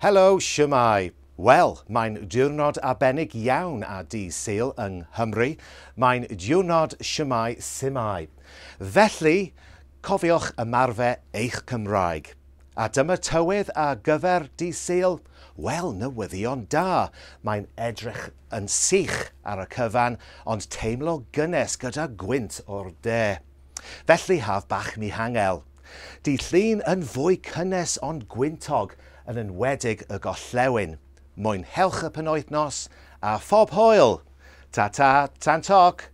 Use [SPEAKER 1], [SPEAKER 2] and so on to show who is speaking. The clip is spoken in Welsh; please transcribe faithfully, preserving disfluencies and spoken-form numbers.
[SPEAKER 1] Helo, shwmae. Wel, mae'n diwrnod arbennig iawn ar dydd Sul yng Nghymru. Mae'n diwrnod shwmae su'mae. Felly, cofiwch ymarfer eich Cymraeg. A dyma tywydd ar gyfer dydd Sul. Wel, newyddion da. Mae'n edrych yn sych ar y cyfan, ond teimlo gynnes gyda gwynt o'r de. Felly, haf bach mihangel. Dydd Llun yn fwy cynnes ond gwyntog yn enwedig y gorllewin. Mwynhewch y penwythnos a phob hwyl! Ta-ta, tan toc!